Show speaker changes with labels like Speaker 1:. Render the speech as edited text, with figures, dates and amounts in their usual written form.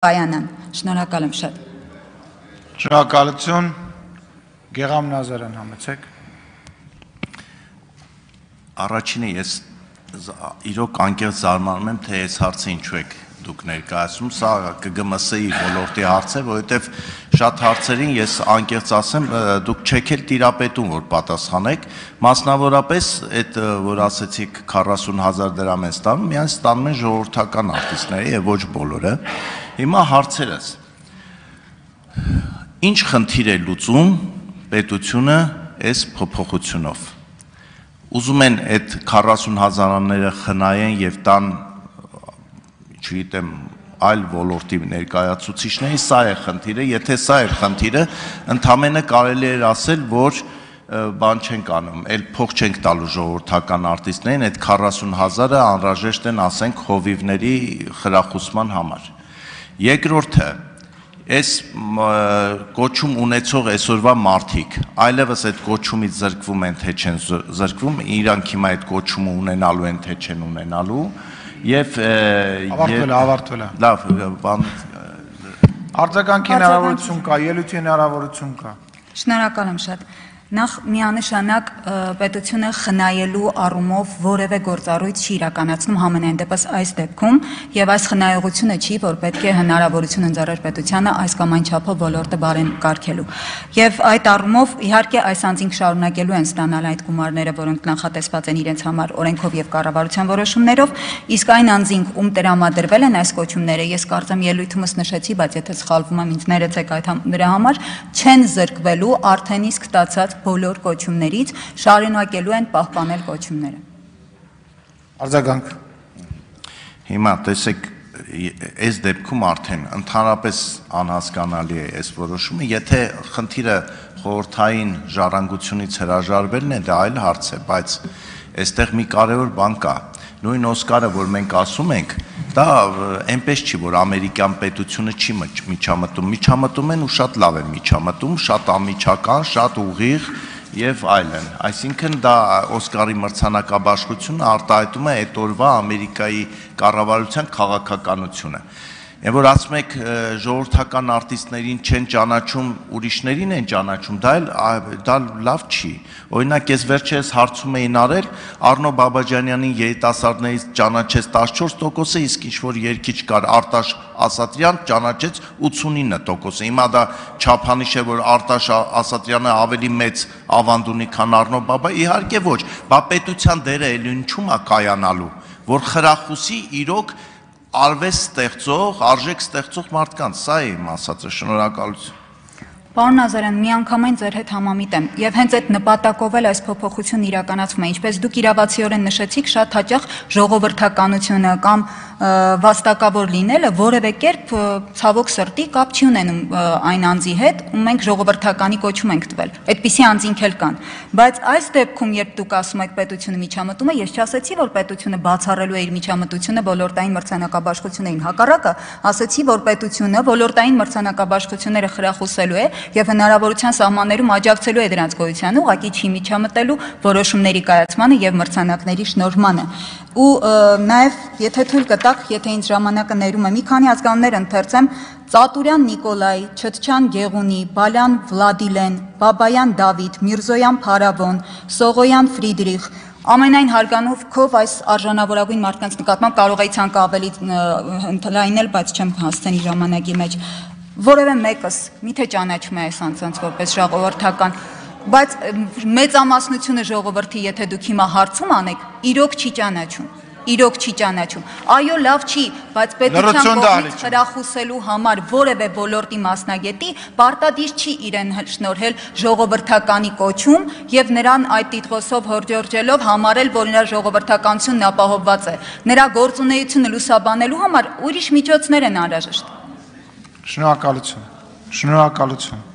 Speaker 1: Bayanan, շնորհակալ եմ շատ։
Speaker 2: Շնորհակալություն, Գեղամ Նազարյան համեցեք։
Speaker 3: Առաջինը ես իրոք անկեղծ զարմանում եմ, թե այս հարցը ինչու եք դուք ներկայացնում, սա ԿԳՄՍ-ի ոլորտի հարց է, որովհետև շատ հարցերին ես անկեղծ ասեմ, դուք չեք էլ տիրապետում, որ պատասխանեք, մասնավորապես այդ, որ ասեցիք 40,000 դրամ են ստանում, միայն ստանում են ժողովրդական արտիստները եւ ոչ բոլորը։ Հիմա հարցերս։ Ինչ խնդիր է լուծում պետությունը այս փոփոխությունով։ Ուզում են այդ 40,000-ները խնայեն եւ տան, չգիտեմ, այլ ոլորտի ներկայացուցիչների, սա է խնդիրը, եթե սա է խնդիրը, ընդամենը կարելի է ասել, որ բան չենք անում, էլ փող չենք տալու ժողովրդական արտիստներին, այդ 40,000-ը անհրաժեշտ են, ասենք, խովիվների խրախուսման համար։ Երկրորդը, այս կոչում ունեցող այսօրվա մարդիկ, այլևս այդ կոչումից զրկվում են, թե չեն զրկվում, իրանք հիմա այդ կոչումը ունենալու են, թե չեն ունենալու, եւ
Speaker 2: ավարտվել է։ Լավ, բան արձագանքի հնարավորություն կա, ելույթի հնարավորություն կա։
Speaker 1: Շնորհակալ եմ շատ։ Նախ միանշանակ պետությունը խնայելու առումով որևէ գործառույթ չի իրականացնում համենայն դեպս այս դեպքում եւ այս խնայողությունը չի, որ պետք է հնարավորություն ընձեռեր պետությանը այս կամ այն չափով ոլորտը բարեն կարգելու։ Եվ այդ առումով իհարկե այս անձինք շարունակելու են ստանալ այդ գումարները, որոնք նախատեսված են իրենց համար օրենքով եւ կառավարության որոշումներով, իսկ այն անձինք, ում տրամադրվել են այս կոչումները, ես կարծեմ ելույթումս նշեցի, բայց եթե սխալվում եմ, ինձ ներեցեք այդ դրա համար, չեն զրկվելու արդեն իսկ ստացած բոլոր կոչումներից, շարունակելու են պահպանել կոչումները։
Speaker 2: Արձագանք։
Speaker 3: Հիմա տեսեք, այս դեպքում արդեն ընդհանրապես անհասկանալի է այս որոշումը, եթե խնդիրը խորհրդային ժառանգությունից հրաժարվելն է, դա այլ հարց է, բայց այստեղ մի կարևոր բան կա։ Նույն Օսկարը, որ մենք ասում ենք, դա այնպես չի, որ ամերիկյան պետությունը չի միջամտում են ու շատ լավ են միջամտում, շատ անմիջական, շատ ուղիղ եւ այլն։ Այսինքն դա Օսկարի մրցանակաբաշխությունը արտահայտում է այդ օրվա Ամերիկայի կառավարության քաղաքականությունը։ Եվ որ ասում եք ժողովրդական արտիստներին չեն ճանաչում, ուրիշներին են ճանաչում, դա լավ չի։ Օրինակ ես վերջերս հարցում էին արել, Արնո Բաբաջանյանին երիտասարդներից ճանաչեց 14%, իսկ ինչ-որ երգիչ կար Արտաշ Ասատրյան ճանաչեց 89%։ Հիմա դա չափանիշ է, որ Արտաշ Ասատրյանը ավելի մեծ ավանդ ունի, քան Արնո Բաբա, իհարկե ոչ, բա պետության դերը էլ ինչու՞մ է կայանալու, որ խրախուսի իրոք արվեստ ստեղծող, արժեք ստեղծող մարդկանց, սա է իմ ասածը, շնորհակալություն։
Speaker 1: Պարոն Նազարյան, միանգամայն ձեր հետ համամիտ եմ, եւ հենց այդ նպատակով էլ այս փոփոխությունն իրականացվում է, ինչպես դուք իրավացիորեն նշեցիք, շատ հաճախ ժողովրդականությունը կամ վաստակավոր լինելը որևէ կերպ ցավոք սրտի կապ չի ունենում այն անձի հետ, ում մենք ժողովրդականի կոչում ենք տվել։ Այդպիսի անձինք էլ կան, բայց այս դեպքում, երբ դուք ասում եք պետությունը միջամտում է, ես չասեցի, որ պետությունը բացառելու է իր միջամտությունը ոլորտային մրցանակաբաշխություններին, հակառակը, ասեցի, որ պետությունը ոլորտային մրցանակաբաշխությունները խրախուսելու է եւ հնարավորության սահմաններում աջակցելու է դրանց գոյությանը, ուղղակի չի միջամտելու որոշումների կայացմանը եւ մրցանակների շնորհմանը։ Ու նաեւ եթե թույլ կտաք, եթե ինձ ժամանակը ներում է, մի քանի ազգանուններ ընթերցեմ. Ծատուրյան Նիկոլայ, Չտչյան Գեղունի, Բալյան Վլադիլեն, Բաբայան Դավիթ, Միրզոյան Փարավոն, Սողոյան Ֆրիդրիխ, ամենայն հարգանքով այս արժանավորագույն մարդկանց նկատմամբ կարող էի ցանկը ավելի ընդլայնել, բայց չեմ հասցնի ժամանակի մեջ։ Որևէ մեկս միթե ճանաչում է այս անձանց որպես ժողովրդական, բայց մեծամասնությունը ժողովրդի, եթե դուք հիմա հարցում անեք, իրոք չի ճանաչում։ Այո, լավ չի, բայց պետության կողմից խրախուսելու համար որևէ ոլորտի մասնագետի պարտադիր չի իրեն շնորհել ժողովրդականի կոչում եւ նրան այդ տիտղոսով հորդորջելով համարել, որ նրա ժողովրդականությունն ապահովված է։ Նրա գործունեությունը լուսաբանելու համար ուրիշ միջոցներ են անհրաժեշտ։
Speaker 2: Շնորհակալություն։